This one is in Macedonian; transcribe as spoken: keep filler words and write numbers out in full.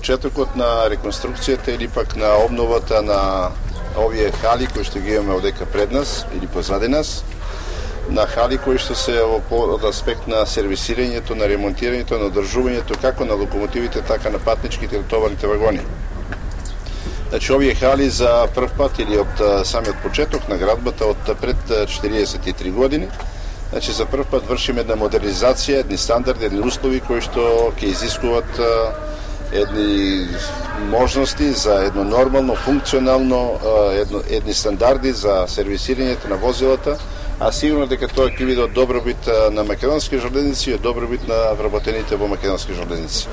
почетокот на реконструкцијата или пак на обновата на овие хали кои што ги имаме одека пред нас или позади нас, на хали кои што се од аспект на сервисирањето, на ремонтирањето, на одржувањето како на локомотивите, така на патничките и товарните вагони. Значи, овие хали за прв пат или од самиот почеток на градбата од пред четириесет и три години, значи за прв пат вршиме една модернизација, едни стандарди, едни услови кои што ќе изискуваат едни можности за едно нормално, функционално, едно, едни стандарди за сервисирањето на возилата, а сигурно дека тоа ќе биде од добробит на македонски железници и од добробит на вработените во македонски железници.